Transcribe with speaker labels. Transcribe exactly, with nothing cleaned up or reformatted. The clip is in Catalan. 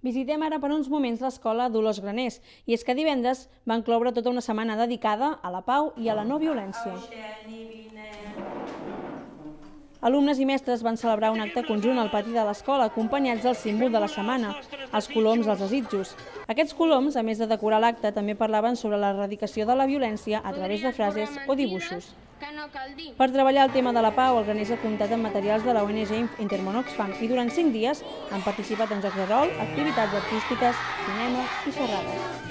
Speaker 1: Visitem ara per uns moments l'escola Dolors Graners, i és que divendres van cloure tota una setmana dedicada a la pau i a la no violència. Alumnes i mestres van celebrar un acte conjunt al pati de l'escola, acompanyats del símbol de la setmana, els coloms dels desitjos. Aquests coloms, a més de decorar l'acte, també parlaven sobre l'erradicació de la violència a través de frases o dibuixos. Per treballar el tema de la pau, el Graners ha comptat amb materials de la O N G Intermón Oxfam i durant cinc dies han participat en jocs de rol, activitats artístiques, cinema i xerrades.